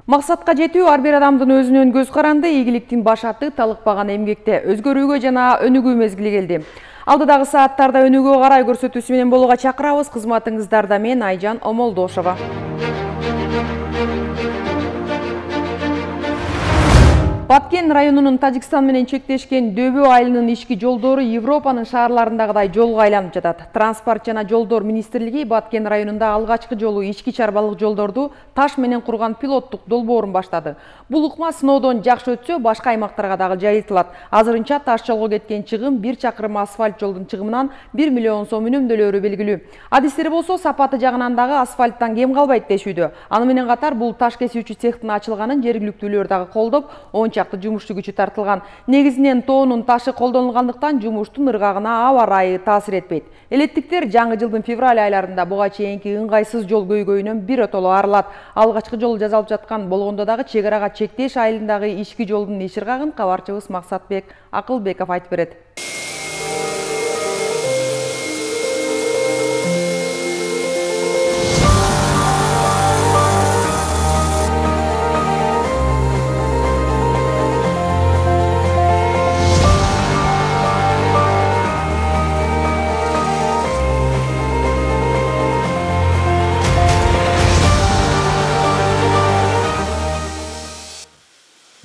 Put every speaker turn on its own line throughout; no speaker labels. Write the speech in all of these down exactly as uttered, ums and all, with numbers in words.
Максатка жетүү ар бир адамдын өзүнөн көз каранды, ийгиликтин башаты талыкпаган эмгекте өзгөрүүгө жана өнүгүү мезгили келди. Алдыдагы сааттарда өнүгүүгө карай көрсөтүүсү менен болууга чакырабыз. Кызматыңыздарда мен Айжан Омолдошова. Баткен районунун Тажикстан менен чектешкен Дөбө айылынын ички жолдору Европанын шаарларындагыдай жолго айланып жатат. Транспорт жана жолдор министрлиги Баткен районунда алгачкы жолу ички чарбалык жолдорду таш менен курган пилоттук долбоорун баштады. Бул ыкма сыноодон жакшы өтсө, башка аймактарга дагы жайылтылат. Азырынча таш жолго кеткен чыгым бир чакырым асфальт жолдун чыгымынан бир миллион сом үнөмдөлөрү белгилүү. Адистер болсо сапаты жагынан дагы асфальттан кем калбайт дешүүдө. Аны менен катар бул таш кесүүчү цехтин ачылганын жергиликтүүлөр дагы колдоп, он чакты жумушчу күчү тартылган. Негизинен тоонун ташы колдонулгандыктан жумуштун ыргагына аба ырайы таасир этпейт. Элеттиктер жаңы жылдын февраль айларында буга чейинки ыңгайсыз жол көйгөйүнөн биротоло арылат. Алгачкы жол жасалып жаткан болгондо дагы чек арага чектеш айылындагы ички жолдун иш ыргагын кабарчыбыз Максатбек Акылбеков айтып берет.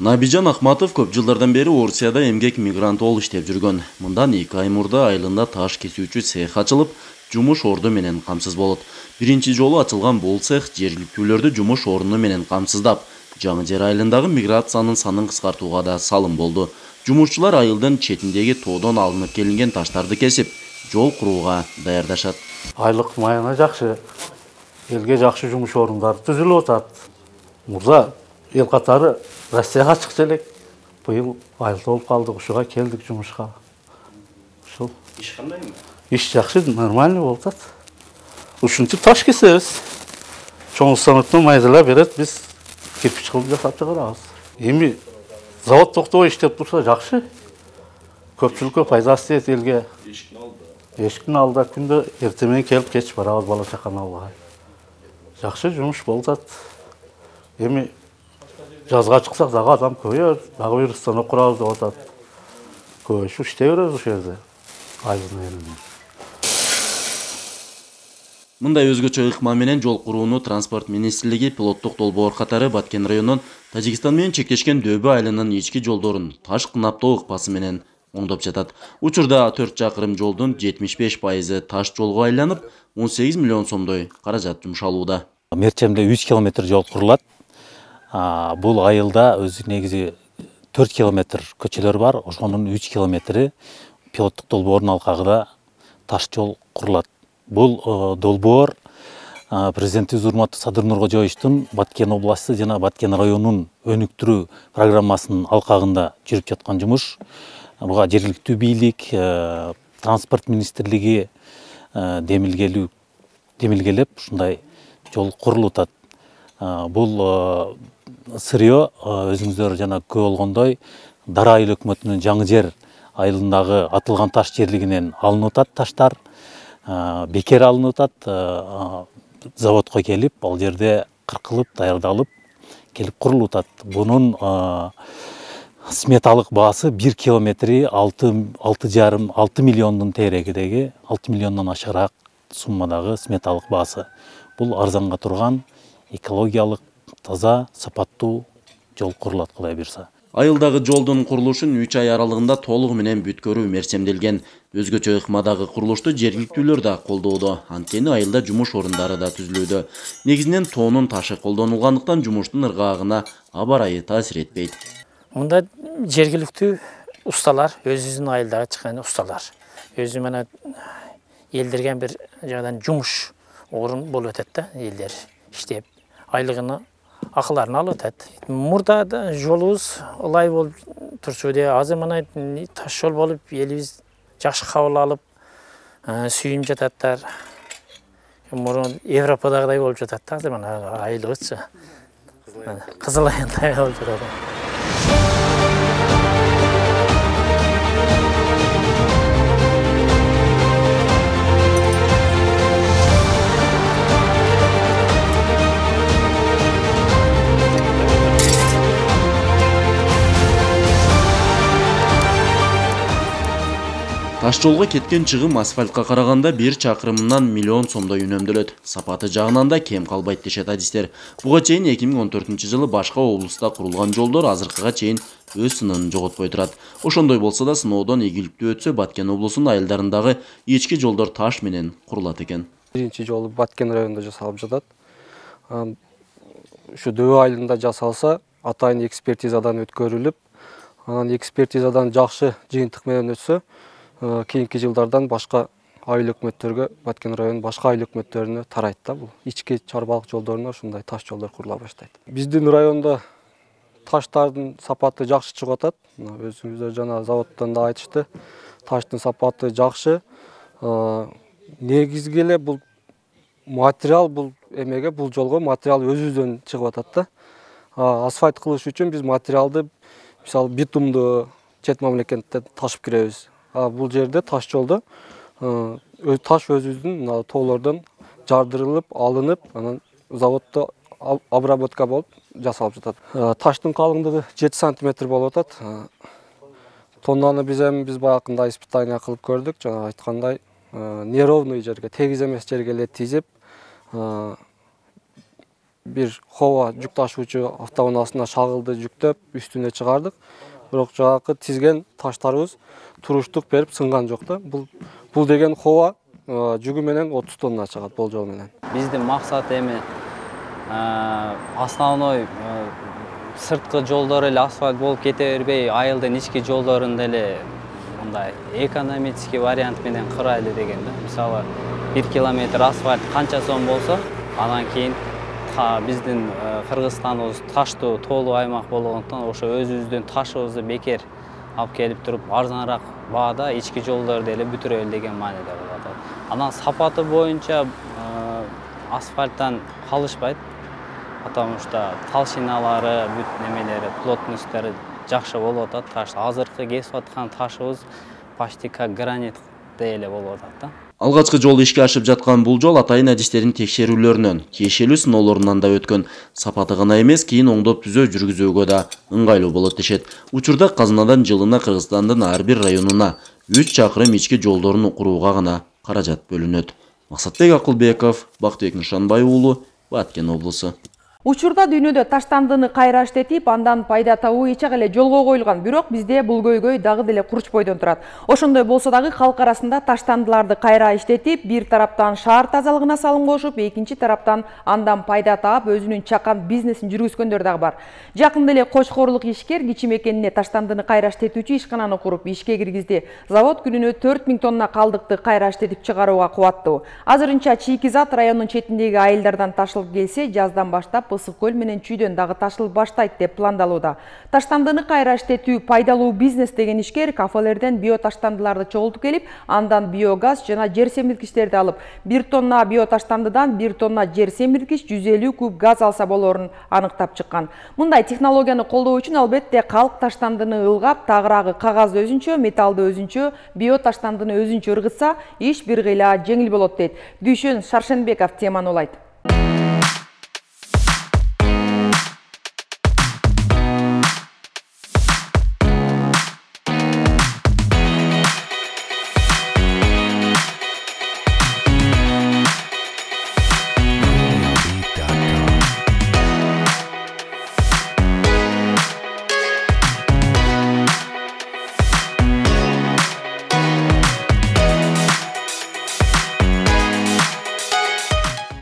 Набижан Ахматов көп жылдардан бери Орусияда эмгек мигранты болуп иштеп жүргөн. Мындан эки ай мурда айылында таш кесүүчү цех ачылып, жумуш орду менен камсыз болот. Биринчи жолу ачылган бул цех жергиликтүүлөрдү жумуш орду менен камсыздап, жаңы жер айылындагы миграциянын санын кыскартууга да салым болду. Жумушчулар айылдын четиндеги тоодон алынып келинген таштарды кесип, жол курууга даярдашат.
Айлык майына жакшы, элге жакшы жумуш орундары түзүлүп атат. Мурда эл катары Россияга чыкчу элек. Быйыл айылда болуп калдык, ушуга келдик жумушка. Ушул.
Иш кандайбы?
Иш жакшы, нормально болуп атат. Ушинтип таш кесебиз. Чоң станоктон майдалап берет, биз кирпич кылып жасап чыгарабыз. Эми завод токтобой иштеп турса жакшы. Көпчүлүккө пайдасы тиет элге.
Эшиктин алдыда.
Эшиктин алдыда күндө эртең менен келип кеч барабыз бала чаканы алууга. Жакшы жумуш болуп атат. Эми жазга чыксак дагы адам көбөйөр, дагы бир станок курабыз деп атат. Көбөйүп иштей беребиз ошол жерде. Айылдын элинде.
Мындай өзгөчө ыкма менен жол курууну транспорт министрлиги пилоттук долбоор катары Баткен районунун Тажикстан менен чектешкен Дөбө айылынын ички жолдорун таш кынаптоо ыкмасы менен оңдоп жатат. Учурда төрт чакырым жолдун жетимиш беш пайызы таш жолго айланып, он сегиз миллион сомдой каражат жумшалууда.
Мерчемде үч километр жол курулат. Бул айылда өзү негизи төрт километр көчөлөр бар. Ошонун үч километри пилоттук долбоордун алкагында таш жол курулат. Бул долбоор президентибиз урматтуу Садыр Нуркожоевичтин Баткен областы жана Баткен районунун өнүктүрүү программасынын алкагында жүрүп жаткан жумуш. Буга жергиликтүү бийлик, транспорт министрлиги демилгелүү демилгелеп ушундай жол курулуп атат. Бул сырьё өзүңүздөр жана көрүп болгондой Дара айыл өкмөтүнүн жаңы жер айылындагы атылган таш жерлигинен алынып атат таштар. Бекер алынып атат. Заводко келип, ал жерде кыркылып, даярдалып, келип курулуп атат. Бунун сметалык баасы бир километри алты жарым алты миллиондун тегерегидеги, алты миллиондон ашыраак суммадагы сметалык баасы. Бул арзанга турган экологиялык таза, сапаттуу жол курулат Кудай буйрса.
Айылдагы жолдун курулушун үч ай аралыгында толугу менен бүткөрүү мерчемделген. Өзгөчө ыкмадагы курулушту жергиликтүүлөр да колдоодо. Анткени айылда жумуш орундары да түзүлүүдө. Негизинен тоонун ташы колдонулгандыктан жумуштун ыргагына аба ырайы таасир этпейт.
Мында жергиликтүү усталар, өзүнүн айылдагы чыккан усталар. Өзү менен элдерген бир жагдан жумуш орун болуп атат да, элдер иштеп айлыгына акыларын алып атат. Мурда жолубуз ылай болуп турчу де, азыр мына таш жол болуп элибиз жакшы кабыл алып, сүйүнүп жататтар. Мурун Европадагыдай болуп жатат да, азыр мына айылыбызчы. Кызыл айылдай болуп жатат.
Таш жолго кеткен чыгым асфальтка караганда бир чакырымынан миллион сомдой үнөмдөлөт. Сапаты жагынан да кем калбайт дешет адистер. Буга чейин эки миң он төртүнчү жылы башка облуста курулган жолдор азыркыга чейин өз сынын жоготпой турат. Ошондой болсо да сыноодон ийгиликтүү өтсө Баткен облусунун айылдарындагы ички жолдор таш менен курулат экен.
Биринчи жолу Баткен районунда жасалып жатат. Ушу Дөбө айылында жасалса, атайын экспертизадан өткөрүлүп, анан экспертизадан жакшы жыйынтык менен өтсө, кийинки жылдардан башка айыл өкмөттөргө, Баткен районунун башка айыл өкмөттөрүнө тарайт да бул. Ички чарбалык жолдоруна ушундай таш жолдор курула баштайт. Биздин районда таштардын сапаты жакшы чыгып атат. Өзүңүздөр жана заводдон да айтышты. Таштын сапаты жакшы. Негизги эле бул материал бул эмеге, бул жолго материал өзүбүздөн чыгып атат да. Асфальт кылыш үчүн биз материалды, мисалы, битумду чет мамлекеттен ташып киребиз. Бул жерде таш жолдо таш өзүбүздүн тоолордон жардырылып, алынып, анан заводдо обработка болуп жасалып жатат. Таштын калыңдыгы жети сантиметр болуп атат. Тоннаны биз эми биз баягында испытание кылып көрдүк, жана айткандай, неровный жерге, тегиз эмес жерге эле тизип, бир хова жүк ташуучу автоунаасына шагылды жүктөп, үстүнө чыгардык. Бирок жагы тизген таштарыбыз туруштук берип сынган жок да. Бул бул деген хова жүгү менен отуз тонна чыгат болжол менен.
Биздин максат эми основной сырткы жолдор эле асфальт болуп кете бербей, айылдын ички жолдорун деле мындай экономический вариант менен кырайлы деген да. Мисалы, бир километр асфальт канча сом болсо, анан кийин биздин Кыргызстаныбыз таштуу, тоолуу аймак болгондуктан ошо өзүбүздүн ташыбызды бекер алып келип туруп арзаныраак баада ички жолдорду эле бүтүрөлү деген мааниде болот. Анан сапаты боюнча асфальттан калышпайт, потому что толщиналары, бүт немелери, плотносттары жакшы болуп атат. Таш азыркы кесип аткан ташыбыз почти как гранит эле болуп атат да.
Алгачкы жол ишке ашып жаткан бул жол атайын адистердин текшерүүлөрүнөн, тиешелүү сыноолорунан да өткөн. Сапаты гана эмес, кийин оңдоп түзөө жүргүзүүгө да ыңгайлуу болот дешет. Учурда казынадан жылына Кыргызстандын ар бир районуна үч чакырым ички жолдорун курууга гана каражат бөлүнөт. Максатбек Акылбеков, Бактыбек Нышанбай уулу, Баткен облусу.
Учурда дүйнөдө таштандыны кайра иштетип, андан пайда табуу эч эле жолго коюлган, бирок бизде бул көйгөй дагы деле курч бойдон турат. Ошондой болсо дагы калк арасында таштандыларды кайра иштетип, бир тараптан шаар тазалыгына салым кошуп, экинчи тараптан андан пайда таап, өзүнүн чакан бизнесин жүргүзгөндөр дагы бар. Жакында эле Кочкорлук ишкер кичи мекенине таштандыны кайра иштетүүчү ишкананы куруп, ишке киргизди. Завод күнүнө төрт миң тонна калдыкты кайра иштетип чыгарууга кубаттуу. Азырынча Чийкизат районунун четиндеги айылдардан ташылып келсе, жаздан баштап Ысык көл менен Чүйдөн дагы ташылып баштайт деп пландалууда. Таштандыны кайра иштетүү пайдалуу бизнес деген ишкер кафелерден биоташтандыларды чогултуп келип, андан биогаз жана жер семирткичтерди алып, бир тонна биоташтандыдан бир тонна жер семирткич жүз элүү куб газ алса болорун аныктап чыккан. Мындай технологияны колдоо үчүн албетте калк таштандыны ылгап, тагыраагы кагазды өзүнчө, металлды өзүнчө, биоташтандыны өзүнчө ыргытса, иш бир кыйла жеңил болот дейт. Дүйшөн Шаршенбеков теманы улайт.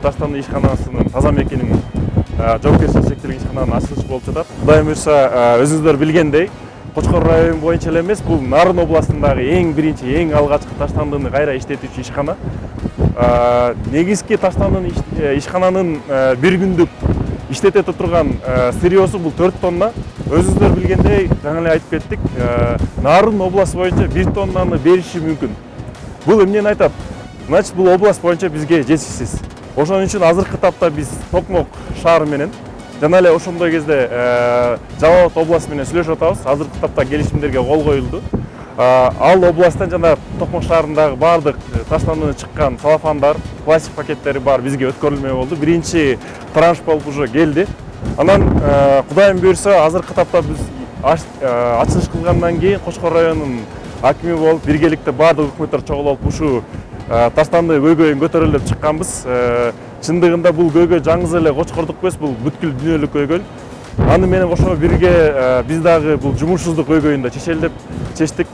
Таштанды ишканасынын таза мекенинин жоопкерчилиги шектелген ишкананын ачылышы болуп жатат. Кудайым буйрса, өзүңүздөр билгендей, Кочкор району боюнча эле эмес, бул Нарын областындагы эң биринчи, эң алгачкы таштандыны кайра иштетүүчү ишкана. Негизги таштандын ишкананын бир күндүк иштете турган сырьёсу бул төрт тонна. Өзүңүздөр билгендей, жаңы эле айтып кеттик, Нарын областы боюнча бир тоннаны бериши мүмкүн. Бул эмнени айтат? Значит, бул область боюнча бизге жетишсиз. Ошон үчүн азыркы тапта биз Токмок шаар менен жана эле ошондой кезде Жалал Абад областы менен сүйлөшүп атабыз. Азыркы тапта келишимдерге кол коюлду. Ал областтан жана Токмок шаарындагы баардык таштандыны чыккан салафандар, пластик пакеттери бар бизге өткөрүлмөй болду. Биринчи транш болуп уже келди. Анан Кудайым буйрса, азыркы тапта биз ачылыш кылгандан кийин Кочкор районунун акими болуп, биргеликте баардык өкмөттөр чогулуп ушу таштанды көйгөйүн көтөрөлүп чыкканбыз. Чындыгында бул көйгөй жаңыз эле Кочкордук эмес, бул бүткүл дүйнөлүк көйгөй. Аны менен кошо бирге биз дагы бул жумушсуздук көйгөйүн да чечели деп чечтик.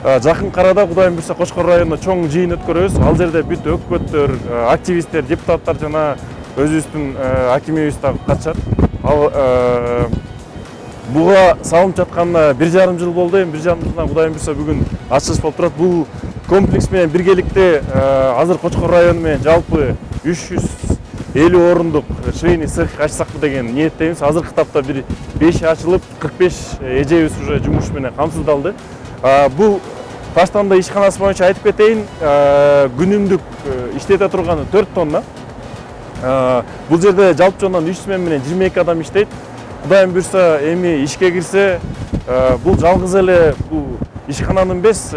Жакын арада Кудайым буйрса Кочкор районунда чоң жыйын өткөрөбүз. Ал жерде бүт өкмөттөр, активисттер, депутаттар жана өзүбүздүн акимибиз да катышат. Ал буга салынып жатканына бир жарым жыл болду. Эми бир жарым жылдан Кудайым буйрса бүгүн ачылыш болуп турат. Бул комплекс менен биргеликте азыр Кочкор району менен жалпы үч жүз элүү орундук швейный цех ачсакпы деген ниеттебиз. Азыркы тапта бир беш ачылып, кырк беш эжебиз уже жумуш менен камсыздалды. Бул таштанды ишканасы боюнча айтып кетейин, күнүмдүк иштете турганы төрт тонна. Бул жерде жалпы жондан үч смен менен жыйырма эки адам иштейт. Кудайым буйрса эми ишке кирсе, бул жалгыз эле бул ишкананын эмес,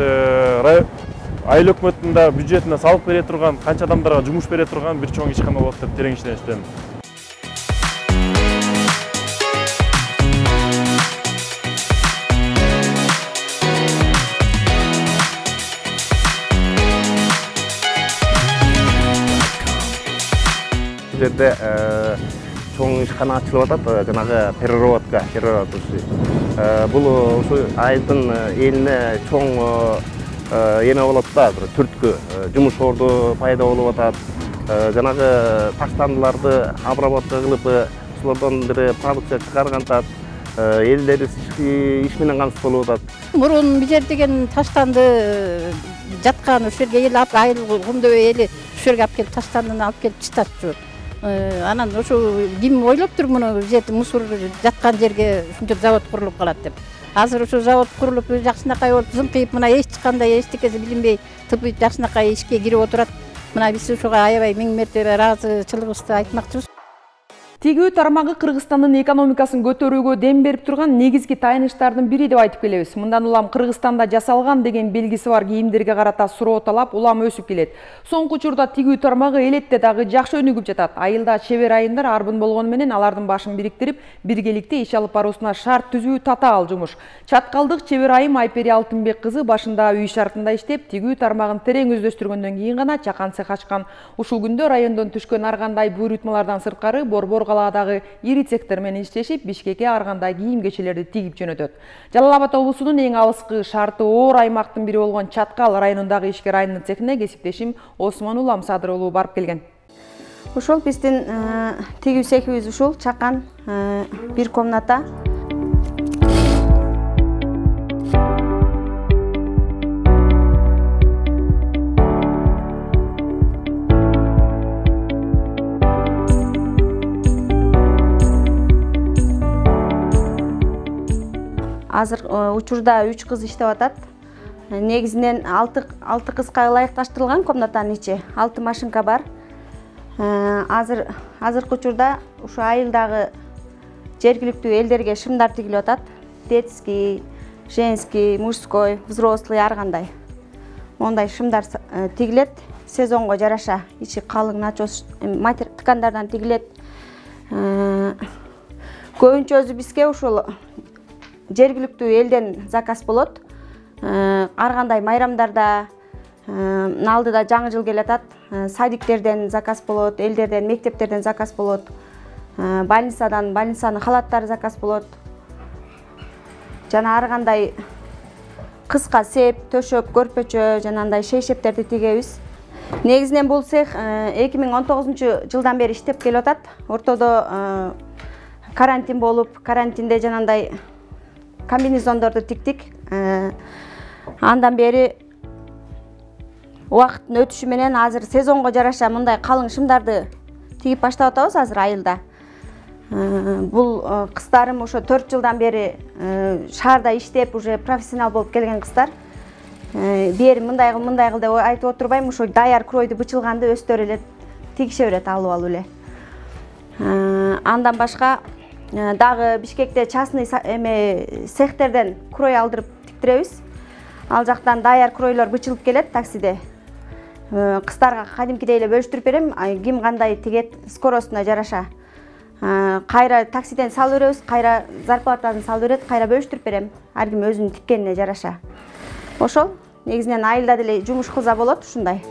айыл өкмөттүн да бюджетине салык бере турган, канча адамдарга жумуш бере турган бир чоң ишкана болот деп терең ишеничтемин.
Бул жерде чоң ишкана ачылып атат, жанагы переработка, переработка. Бул ушу айылдын элине чоң эме болот да, бир түрткү жумуш орду пайда болуп атат. Жанагы таштандыларды обработка кылып, ошолордон бир продукция чыгаргантат, элдерибиз иш менен камсыз болуп атат.
Мурун бул жер деген таштанды жаткан, ошол жерге эл алып, айыл кумдөбөй эли ошол жерге алып келип таштандыны алып келип таштатчу. Анан ошо ким ойлоптур муну бул жерде мусор жаткан жерге ушунча завод курулуп калат деп. Азыр ошо завод курулуп жакшынакай болуп зыңкыйып, мына эч кандай эчтекеси билинбей тыпып жакшынакай ишке кирип отурат. Мына биз ошого аябай миң мертебе ыраазычылыгыбызды айтмакчыбыз.
Тигүү тармагы Кыргызстандын экономикасын көтөрүүгө дем берип турган негизги тайыныштардын бири деп айтып келебиз. Мындан улам Кыргызстанда жасалган деген белгиси бар кийимдерге карата суроо талап улам өсүп келет. Соңку учурда тигүү тармагы элетте дагы жакшы өнүгүп жатат. Айылда чебер айымдар арбын болгону менен алардын башын бириктирип, биргеликте иш алып баруусуна шарт түзүү татаал жумуш. Чаткалдык чебер айым Айпери Алтынбек кызы башында үй шартында иштеп, тигүү тармагын терең өздөштүргөндөн кийин гана чакан цех ачкан. Ушул күндө райондон түшкөн ар кандай буйрутмалардан сырткары борбор калаадагы ири цехтер менен иштешип, Бишкекке ар кандай кийим-кечелерди тигип жөнөтөт. Жалал Абад облусунун эң алыскы шарты оор аймактын бири болгон Чаткал районундагы ишкер айымдын цехине кесиптешим Осмон Улам Садыр уулу барып келген.
Ушул биздин тигүү цехибиз ушул чакан бир комната. Азыр учурда үч кыз иштеп атат. Негизинен алты кызга ылайыкташтырылган комнатанын ичи, алты машинка бар. Азыр азыркы учурда ушу айылдагы жергиликтүү элдерге шымдар тигилип атат. Детский, женский, мужской, взрослый ар кандай. Мондай шымдар тигилет. Сезонго жараша ичи калың начос ткандардан тигилет. Көбүнчө өзү бизге ушул жергиликтүү элден заказ болот. Ар кандай майрамдарда, алдыда жаңы жыл келатат, садиктерден заказ болот, элдерден, мектептерден заказ болот. Больницадан, больницанын халаттары заказ болот. Жана ар кандай кыска сеп, төшөк, көрпөчө, жанагындай шейшептерди тигебиз. Негизинен бул цех эки миң он тогузунчу жылдан бери иштеп келип атат. Ортодо карантин болуп, карантинде жанагындай комбинезондорду тиктик. Андан бери убакыттын өтүшү менен азыр сезонго жараша мындай калың шымдарды тигип баштап атабыз азыр айылда. Бул кыздарым ошо төрт жылдан бери шаарда иштеп, уже профессионал болуп келген кыздар. Бери мындай кыл, мындай кыл деп айтып отурбайм, ошо даяр кройду бычылганды өздөрү эле тигише берет алып алып эле. Андан башка дагы Бишкекте частный эме цехтерден крой алдырып тиктиребиз. Ал жактан даяр кройлор бычылып келет таксиде. Кыздарга кадимкидей эле бөлүштүрүп берем, ким кандай тигет скоростуна жараша. Кайра таксиден салып беребиз, кайра зарплатасын салып берет, кайра бөлүштүрүп берем. Ар ким өзүнүн тиккенине жараша. Ошол негизинен айылда деле жумуш кылса болот ушундай.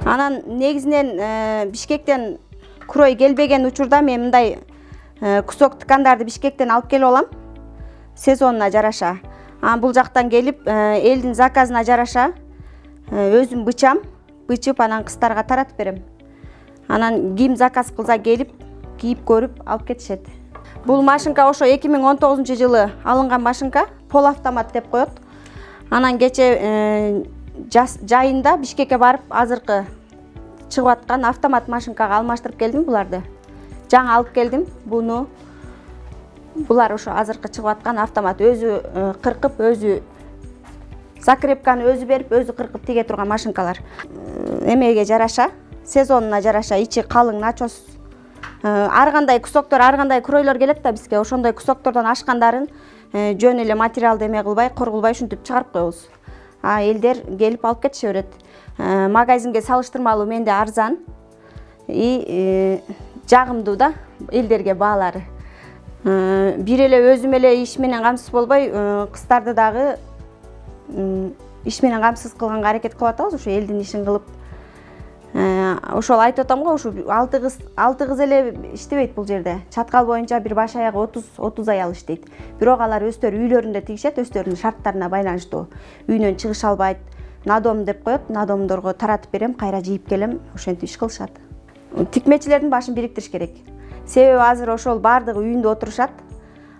Анан негизинен Бишкектен курой келбеген учурда мен мындай кусок ткандарды Бишкектен алып келип алам сезонуна жараша. Анан бул жактан келип элдин заказына жараша өзүм бычам, бычып анан кыздарга таратып берем. Анан ким заказ кылса келип, кийип көрүп алып кетишет. Бул машинка ошо эки миң он тогузунчу жылы алынган машинка, пол автомат деп коет. Анан кече жайында Бишкекке барып азыркы чыгып аткан автомат машинкага алмаштырып келдим буларды. Жаңы алып келдим буну. Булар ошо азыркы чыгып аткан автомат, өзү кыркып, өзү закрепканы өзү берип, өзү кыркып тиге турган машинкалар. Эмеге жараша, сезонуна жараша ичи калың начос. Ар кандай кусоктор, ар кандай куройлор келет да бизге. Ошондой кусоктордон ашкандарын жөн эле материалды эме кылбай, коргулбай ушинтип чыгарып коебуз. А элдер келип алып кетише берет. Магазинге салыштырмалуу менде арзан и жагымдуу да элдерге баалары. Бир эле өзүм эле иш менен камсыз болбой, кыздарды дагы иш менен камсыз кылганга аракет кылып атабыз, ошо элдин ишин кылып. Ошол айтып атам го, ушу алты кыз, алты кыз эле иштебейт бул жерде. Чаткал боюнча бир баш аягы отуз отуз аял иштейт. Бирок алар өздөрү үйлөрүндө тигишет, өздөрүнүн шарттарына байланыштуу. Үйүнөн чыгыша албайт. Надом деп коет, надомдорго таратып берем, кайра жийип келем, ошентип иш кылышат. Тикмечилердин башын бириктириш керек. Себеби азыр ошол баардыгы үйүндө отурушат.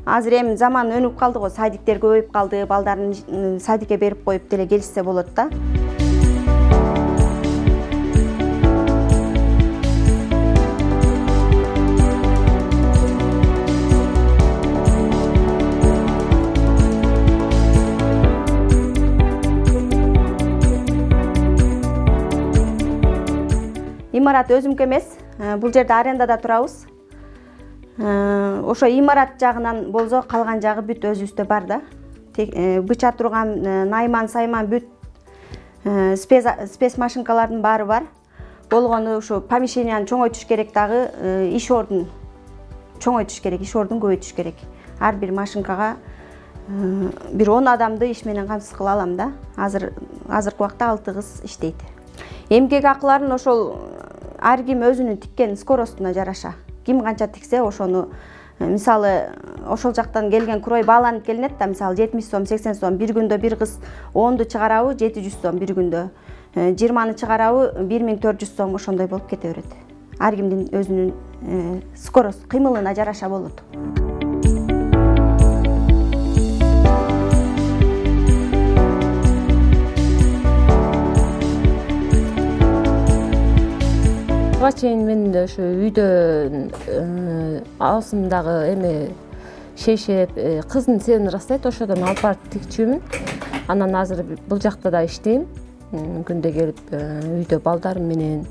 Азыр эми заман өнүп калды го, садиктер көбөйүп калды, балдарын садикке берип коюп деле келишсе болот да. Имарат өзүмкө эмес, бул жерде арендада турабыз. Ошо имарат жагынан болсо калган жагы бүт өзүбүздө бар да. Быча турган найман, сайман бүт спец машинкалардын баары бар. Болгону ушу помещенияны чоңойтуш керек дагы, иш ордун чоңойтуш керек, иш ордун көбөйтүш керек. Ар бир машинкага бир он адамды иш менен камсыз кыла алам да. Азыр азыркы убакта алты кыз иштейт. Эмгек акыларын ошол ар ким өзүнүн тиккен скоростуна жараша. Ким канча тиксе ошону, мисалы, ошол жактан келген курой бааланып келинет да, мисалы жетимиш сом, сексен сом, бир күндө бир кыз онду чыгарабы, жети жүз сом бир күндө. жыйырманы чыгарабы, бир миң төрт жүз сом ошондой болуп кете берет. Ар кимдин өзүнүн скорост, кыймылына жараша болот.
Буга чейин мен ошо үйдө аасымдагы эме шешеп, кыздын сенин ырастайт, ошодон алып барып тикчүмүн. Анан азыр бул жакта да иштейм. Күндө келип үйдө балдарым менен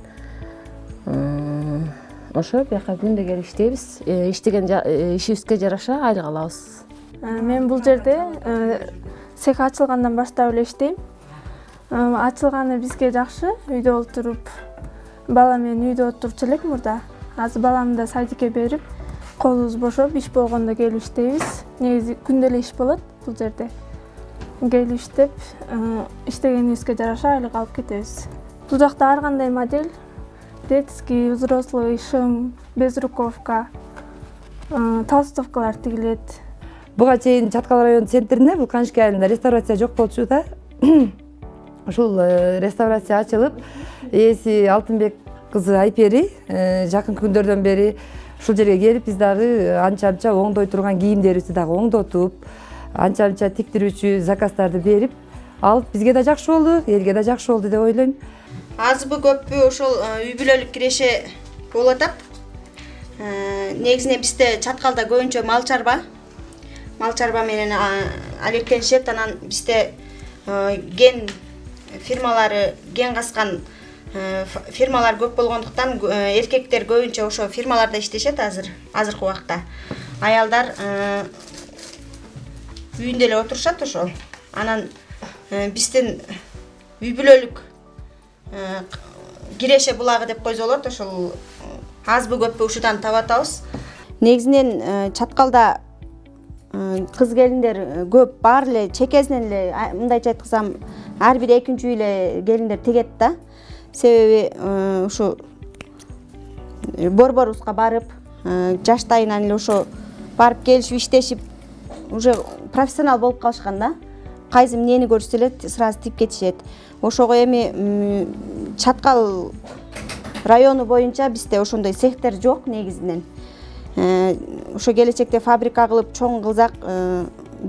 ошо бияка күндө келип иштейбиз. Иштеген ишибизге жараша айлык алабыз.
Мен бул жерде цех ачылгандан баштап эле иштейм. Ачылганы бизге жакшы, үйдө отуруп бала менен үйдө отурчу элек мурда. Азыр баламды да садикке берип, колубуз бошоп, иш болгондо келип иштейбиз. Негизи күндө эле иш болот бул жерде. Келип иштеп, иштегенибизге жараша айлык алып кетебиз. Бул жакта ар кандай модель, детский, взрослый, шым, безруковка, толстовкалар тигилет.
Буга чейин Чаткал район центринде, бул Канышки айылында реставрация жок болчу да. Ушул реставрация ачылып, ээси Алтынбек кызы Айпери жакынкы күндөрдөн бери ушул жерге келип, биз дагы анча-анча оңдой турган кийимдерибизди дагы оңдотуп, анча-анча тиктирүүчү заказдарды берип алып, бизге да жакшы болду, элге да жакшы болду деп ойлойм.
Азбы көппү ошол үй бүлөлүк киреше болуп атат. Негизинен бизде Чаткалда көбүнчө мал чарба, мал чарба менен алектенишет. Анан бизде ген фирмалары, ген каскан фирмалар көп болгондуктан эркектер көбүнчө ошо фирмаларда иштешет азыр, азыркы убакта. Аялдар үйүндө эле отурушат ошол. Анан биздин үй бүлөлүк киреше булагы деп койсо болот. Ошол азбы көппү ушудан таап атабыз. Негизинен Чаткалда кыз келиндер көп, бар эле чекесинен эле, мындайча айткансам, ар бир экинчи үй эле келиндер тегет да. Себеби ушу борборубузга барып, жаштайынан эле ошо барып келишип иштешип, уже профессионал болуп калышкан да. Кайсы эмнени көрсө эле сразу тип кетишет. Ошого эми Чаткал району боюнча бизде ошондой цехтер жок негизинен. Ошо келечекте фабрика кылып чоң кылсак,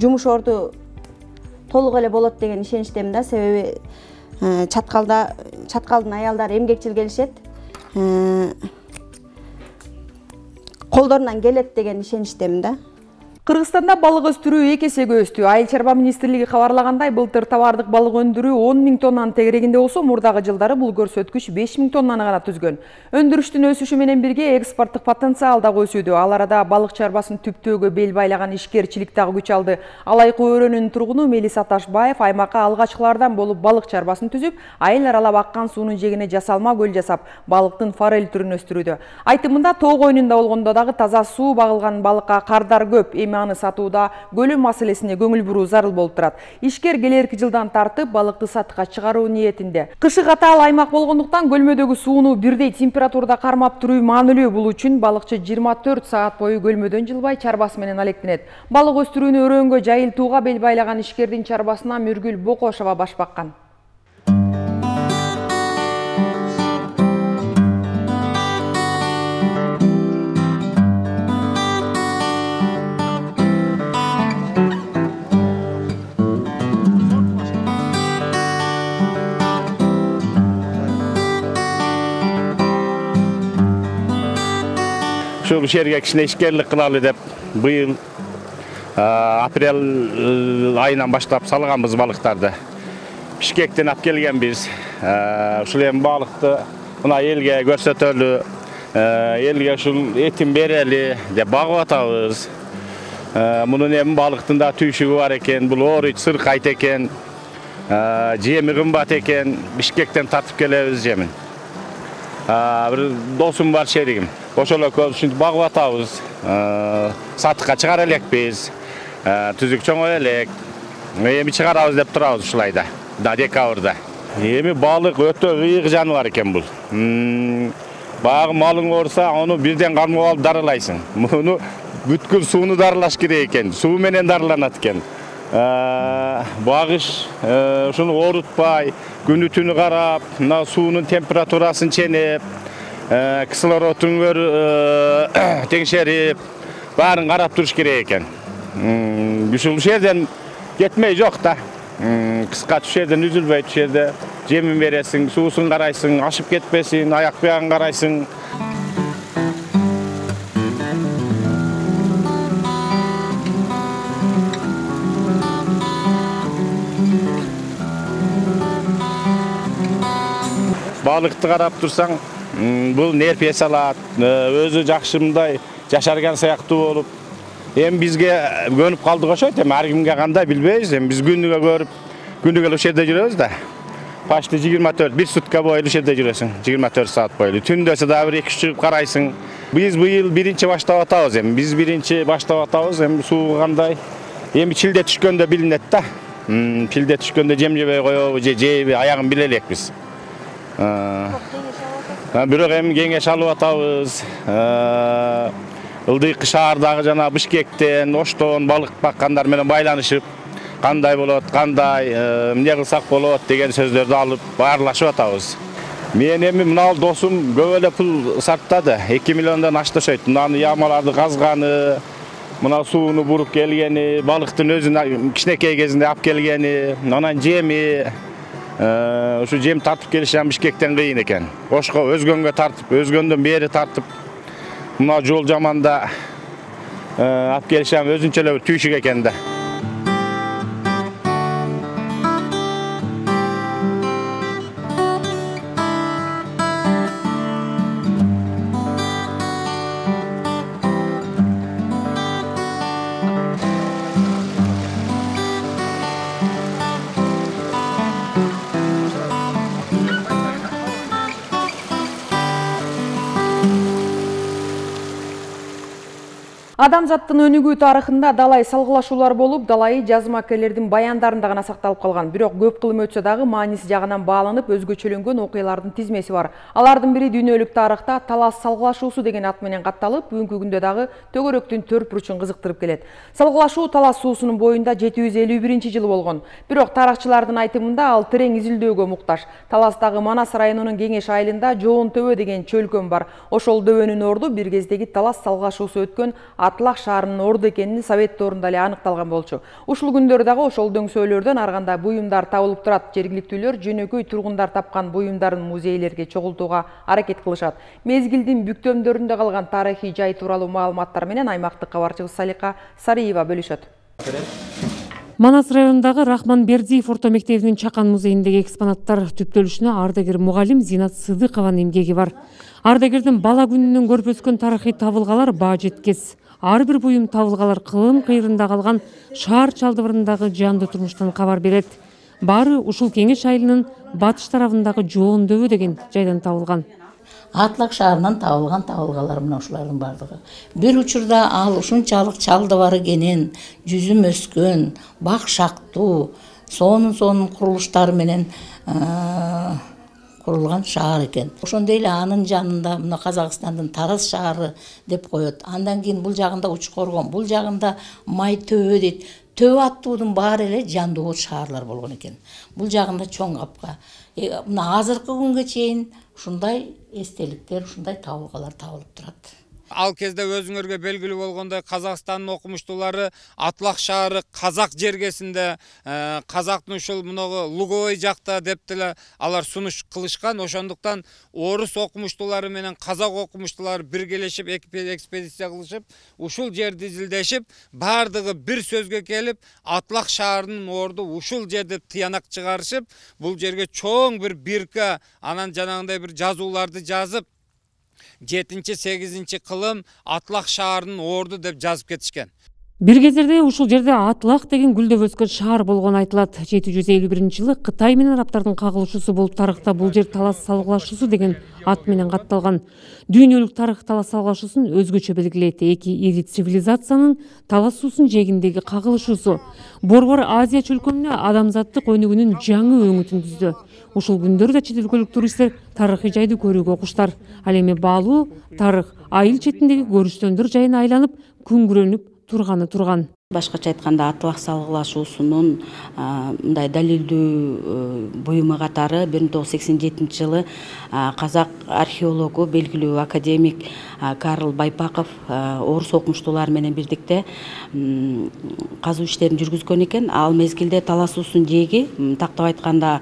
жумуш орду толук эле болот деген ишеничтемин да. Себеби Чаткалда Чаткалдын аялдары эмгекчил келишет. Колдорунан келет деген ишеничтемин да.
Кыргызстанда балык өстүрүү эки эсеге өстү. Айыл чарба министрлиги кабарлагандай, былтыр товардык балык өндүрүү он миң тоннанын тегерегинде болсо, мурдагы жылдары бул көрсөткүч беш миң тоннаны гана түзгөн. Өндүрүштүн өсүшү менен бирге экспорттук потенциал дагы өсүүдө. Ал арада балык чарбасын түптөөгө бел байлаган ишкерчилик дагы күч алды. Алайкы өрөөнүн тургуну Мелис Аташбаев аймакка алгачкылардан болуп балык чарбасын түзүп, айыл аралап аккан суунун жегине жасалма көл жасап, балыктын форель түрүн өстүрүүдө. Айтымында тоо койнунда болгондо дагы таза суу багылган балыкка кардар көп. Аны сатууда көлөө маселесине көңүл буруу зарыл болуп турат. Ишкер келерки жылдан тартып балыкты сатышка чыгаруу ниетинде. Кышы катаал аймак болгондуктан көлмөдөгү сууну бирдей температурада кармап туруу маанилүү. Бул үчүн балыкчы жыйырма төрт саат бою көлмөдөн жылбай чарбасы менен алектенет. Балык өстүрүүнү өрөөнгө жайылтууга бел байлаган ишкердин чарбасына Мүргүл Бокошова баш баккан.
Ушул жерге кичине ишкерлик кылалы деп быйыл апрель айынан баштап салганбыз балыктарды. Бишкектен алып келгенбиз. Ушул эми балыкты мына элге көрсөтөлү, элге ушул этин берели деп багып атабыз. Мунун эми балыктын да түйшүгү бар экен, бул орыч сыркайт экен, жеми кымбат экен, Бишкектен тартып келебиз жемин. Bir dosum var şerigim. Ошол көбүсүн багып атабыз. Сатыкка чыгара элекпиз. Түзүк чоңой элек. Эми чыгарабыз деп турабыз ушулайда. Да декабрда. Эми балык өтө ыйык жаныбар экен бул. Багы малың орса, аны бирден кармап алып дарылайсың. Муну бүткүл сууну дарылаш керек экен. Суу менен дарыланат экен. Багыш ушуну орутпай, күнү түнү карап, мына суунун температурасын ченеп, кислородун теңшерип, баарын карап туруш керек экен. Ушул жерден кетмей жок да. Кыска туш жерден үзүлбөй, туш жерде жемин бересиң, суусун карайсың, ашып кетпесин, аяк биягын карайсың. Балыкты карап турсаң, бул нерпес алат, өзү жакшымдай жашарган сыяктуу болуп. Эми бизге көнүп калдык ошойт, эми ар кимге кандай билбейбиз, эми биз күнүгө көрүп, күнүгө ушул жерде жүрөбүз да. Почти жыйырма төрт, бир сутка бою ушул жерде жүрөсүң, жыйырма төрт саат бою. Түндөсү да бир эки чыгып карайсың. Биз быйыл биринчи баштап атабыз эми. Биз биринчи баштап атабыз, эми суу кандай. Эми чилде түшкөндө билинет да. Чилде түшкөндө жем жебей коебу, же жейби, аягын биле элекпиз. Бирок эми кеңеш алып атабыз. Ылдыйкы шаардагы жана Бишкектен, Оштон балык баккандар менен байланышып, кандай болот, кандай эмне кылсак болот деген сөздөрдү алып баарлашып атабыз. Мен эми мына досум көп эле пул сарптады. эки миллиондон ашты ошойт. Мынаны ямаларды казганы, мына сууну буруп келгени, балыктын өзүн кичинекей кезинде алып келгени, анан жеми, ушу жем тартып келиш Бишкектен кыйын экен. Ошко өзгөнгө тартып, өзгөндөн бери тартып, мына жол жаманда алып келиш өзүнчө эле түйшүк экен да.
Адамзаттын өнүгүү тарыхында далай салгылашуулар болуп, далайы жазмакерлердин баяндарында гана сакталып калган. Бирок көп кылым өтсө дагы мааниси жагынан бааланып өзгөчөлөнгөн окуялардын тизмеси бар. Алардын бири дүйнөлүк тарыхта талас салгылашуусу деген ат менен катталып, бүгүнкү күндө дагы төгөрөктүн төрт бурчун кызыктырып келет. Салгылашуу Талас суусунун боюнда жети жүз элүү биринчи жылы болгон. Бирок тарыхчылардын айтымында ал терең изилдөөгө муктаж. Таластагы Манас районунун Кеңеш айылында Жоон төбө деген чөлкөм бар. Ошол дөбөнүн орду бир кездеги талас салгылашуусу өткөн Атлах шаарынын орду экенин Совет доорунда эле аныкталган болчу. Ушул күндөрдө дагы ошол дөңсөөлөрдөн ар кандай буюмдар табылып турат. Жергиликтүүлөр жөнөкөй тургундар тапкан буюмдарын музейлерге чогултууга аракет кылышат. Мезгилдин бүктөмдөрүндө калган тарыхый жай тууралуу маалыматтар менен аймактык кабарчыбыз Салика Сариева бөлүшөт.
Манас районундагы Рахман Бердиев орто мектебинин Чакан музейиндеги экспонаттар түптөлүшүнө ардагер мугалим Зинат Сыдыкованын эмгеги бар. Ардагердин бала күнүнөн көрүп өскөн тарыхый табылгалар баа жеткес. Ар бир буюм табылгалар кылым кыйрында калган шаар чалдыбырындагы жандуу турмуштан кабар берет. Баары ушул Кеңеш айылынын батыш тарабындагы Жоон дөбө деген жайдан табылган.
Атлах шаарынан табылган табылгалар мына ушулардын бардыгы. Бир учурда ал ушунчалык чалдыбар экенин, жүзүм өскөн, бак шактуу, сонун сонун курулуштары менен курулган шаар экен. Ошондой эле анын жанында мына Казакстандын Тараз шаары деп коет. Андан кийин бул жагында Учкоргон, бул жагында Май төбө дейт. Төбө аттуудун баары эле жандуу шаарлар болгон экен. Бул жагында чоң капка. Мына азыркы күнгө чейин ушундай эстеликтер, ушундай табылгалар табылып турат.
Ал кезде өзүңөргө белгилүү болгондой Казакстандын окумуштуулары Атлах шаары Казак жергесинде, Казактын ушул мунагы Луговой жакта деп деле алар сунуш кылышкан. Ошондуктан орус окумуштуулары менен Казак окумуштуулары биргелешип экспедиция кылышып, ушул жерди изилдешип, бардыгы бир сөзгө келип, Атлах шаарынын орду ушул жерде тыянак чыгарышып, бул жерге чоң бир бирка, анан жанагындай бир жазууларды жазып, жетинчи сегизинчи кылым Атлах шаарынын орду деп жазып кетишкен.
Бир кездерде ушул жерде Атлах деген гүлдөп өскөн шаар болгону айтылат. жети жүз элүү биринчи жылы Кытай менен араптардын кагылышуусу болуп, тарыхта бул жер талас салгылашуусу деген ат менен катталган. Дүйнөлүк тарых талас салгылашуусун өзгөчө белгилейт. Эки ири цивилизациянын талас суусунун жээгиндеги кагылышуусу Борбор Азия чөлкөмүнө адамзаттык өнүгүүнүн жаңы өңүтүн түздү. Ушул күндөрдө чет өлкөлүк туристтер тарыхый жайды көрүүгө куштар. Ал эми баалуу тарых айыл четиндеги көрүштөндөр жайына айланып, күңгүрөнүп турганы турган.
Башкача айтканда Атлах салгылашуусунун мындай далилдүү буюму катары бир миң тогуз жүз сексен жетинчи жылы казак археологу, белгилүү академик Карл Байпаков орус окумуштуулары менен бирдикте казуу иштерин жүргүзгөн экен. Ал мезгилде Талас суусунун жээги, тактап айтканда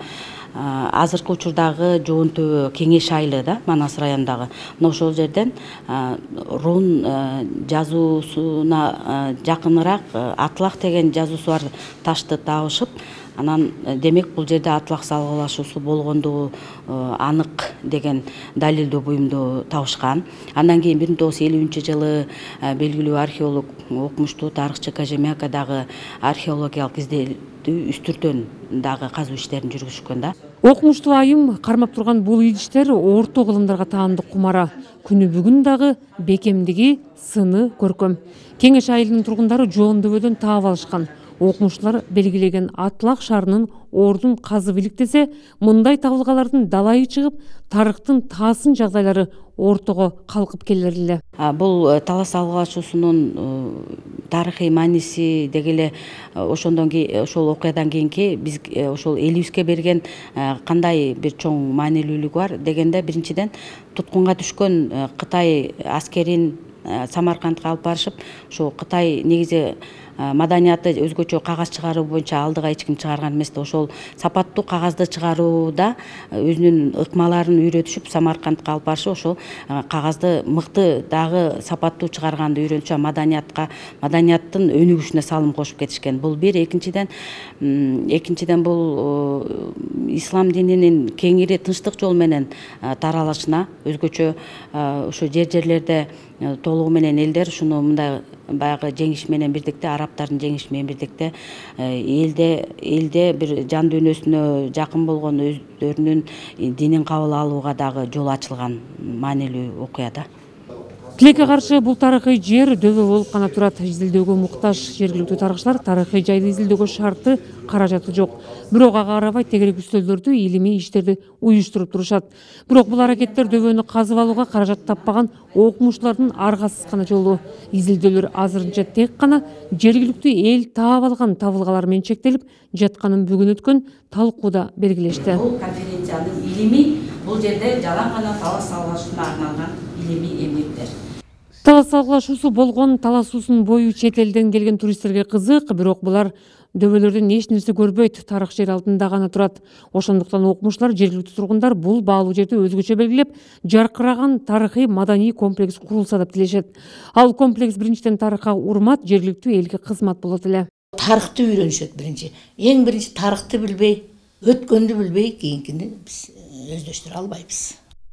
азыркы учурдагы Жоон төбө Кеңеш айылы да, Манас районундагы. Мына ошол жерден рун жазуусуна жакыныраак Атлах деген жазуусу бар ташты табышып, анан демек бул жерде Атлах салгылашуусу болгондугу анык деген далилдүү буюмду табышкан. Андан кийин бир миң тогуз жүз элүүнчү жылы белгилүү археолог, окумуштуу тарыхчы Кожемякадагы археологиялык изилдөө үстүртөн дагы казуу иштерин жүргүзүшкөн да.
Окумуштуу айым кармап турган бул идиштер орто кылымдарга таандык кумара. Күнү бүгүн дагы бекемдиги, сыны көркөм. Кеңеш айылынын тургундары Жоон дөбөдөн таап алышкан. Окумуштуулар белгилеген Атлах шаарынын ордун казып иликтесе, мындай табылгалардын далайы чыгып, тарыхтын таасын жагдайлары ортого калкып келер эле.
Бул талас салгылашуусунун тарыхый мааниси деги эле ошондон кийин, ошол окуядан кийинки биз ошол элибизге берген кандай бир чоң маанилүүлүгү бар дегенде, биринчиден туткунга түшкөн Кытай аскерин Самаркандка алып барышып, ошо Кытай негизи маданияты өзгөчө кагаз чыгаруу боюнча алдыга эч ким чыгарган эмес да. Ошол сапаттуу кагазды чыгарууда өзүнүн ыкмаларын үйрөтүшүп Самаркандка алып барышып, ошол кагазды мыкты дагы сапаттуу чыгарганды үйрөнүшүп, маданиятка, маданияттын өнүгүшүнө салым кошуп кетишкен. Бул бир. Экинчиден, экинчиден бул ислам дининин кеңири тынчтык жол менен таралышына, өзгөчө ошо жер-жерлерде толугу менен элдер ушуну мындай баягы жеңиш менен бирдикте, арабтардын жеңиши менен бирдикте элде элде бир жан дүйнөсүнө жакын болгон өздөрүнүн динин кабыл алууга дагы жол ачылган маанилүү окуя да.
Тилекке каршы бул тарыхый жер дөбө болуп гана турат. Изилдөөгө муктаж жергиликтүү тарыхчылар тарыхый жайды изилдөөгө шарты, каражаты жок. Бирок ага карабай тегерек үстөлдөрдү, илимий иштерди уюштуруп турушат. Бирок бул аракеттер дөбөнү казып алууга каражат таппаган окумуштуулардын аргасыз гана жолу. Изилдөөлөр азырынча тек гана жергиликтүү эл таап алган табылгалар менен чектелип жатканын бүгүн өткөн талкууда белгилешти.
Бул конференциянын илимий бул жерде жалаң гана талас салгылашууна арналган илимий эмгектер.
Талас салгылашуусу болгон талас суусунун бою чет элден келген туристтерге кызык, бирок булар дөбөлөрдөн эч нерсе көрбөйт, тарых жер алдында гана турат. Ошондуктан окумуштуулар, жергиликтүү тургундар бул баалуу жерди өзгөчө белгилеп, жаркыраган тарыхый маданий комплекс курулса деп тилешет. Ал комплекс биринчиден тарыхка урмат, жергиликтүү элге кызмат болот эле.
Тарыхты үйрөнүшөт биринчи. Эң биринчи тарыхты билбей, өткөндү билбей, кийинкини биз өздөштүрө албайбыз.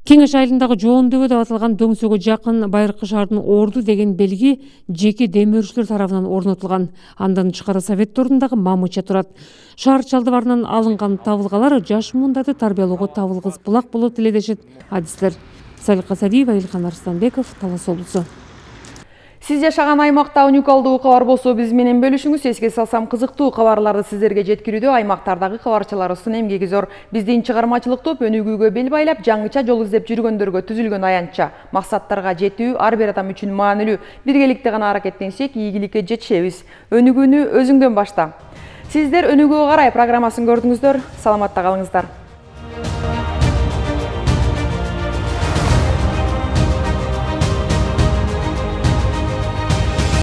Кеңеш айылындагы Жоон дөбө деп аталган дөңсөгө жакын Байыркы шаардын Орду деген белги жеке дем өрүүчүлөр тарабынан орнотулган. Андан тышкары совет ордундагы мамыча турат. Шаар чалдыбарынан алынган табылгалар жаш муундарды тарбиялоого табылгыс булак болот эле дешет адистер. Салика Садиева, Илхан Арстанбеков, Талас облусу.
Сиз жашаган аймакта уникалдуу кабар болсо биз менен бөлүшүңүз. Эске салсам, кызыктуу кабарларды сиздерге жеткирүүдө аймактардагы кабарчыларыбыздын эмгеги зор. Биздин чыгармачылык топ өнүгүүгө бел байлап, жаңыча жол издеп жүргөндөргө түзүлгөн аянтча. Максаттарга жетүү ар бир адам үчүн маанилүү. Биргеликте гана аракеттенсек, ийгиликке жетишебиз. Өнүгүүнү өзүңдөн башта. Сиздер өнүгүүгө карай программасын көрдүңүздөр. Саламатта калыңыздар.